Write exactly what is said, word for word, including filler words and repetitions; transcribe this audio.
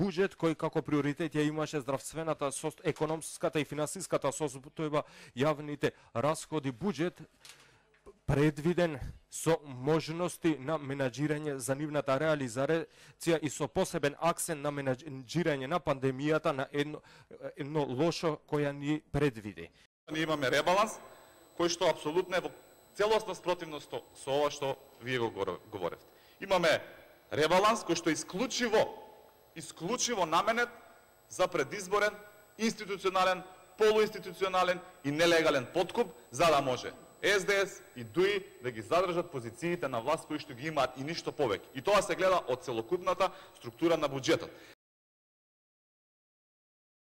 буџет кој како приоритет ја имаше здравствената, економската и финансиската состојба, јавните расходи, буџет предвиден со можности на менаџирање за нивната реализација и со посебен акцент на менаџирање на пандемијата на едно, едно лошо која ни предвиди. Ние имаме ребаланс кој што апсолутно е во целосна спротивност со ова што вие го говоревте. Имаме ребаланс кој што е исклучиво, исклучиво наменет за предизборен, институционален, полуинституционален и нелегален подкуп, за да може Ес Де Ес и ДУИ да ги задржат позициите на власт кои што ги имаат и ништо повеќе. И тоа се гледа од целокупната структура на буџетот.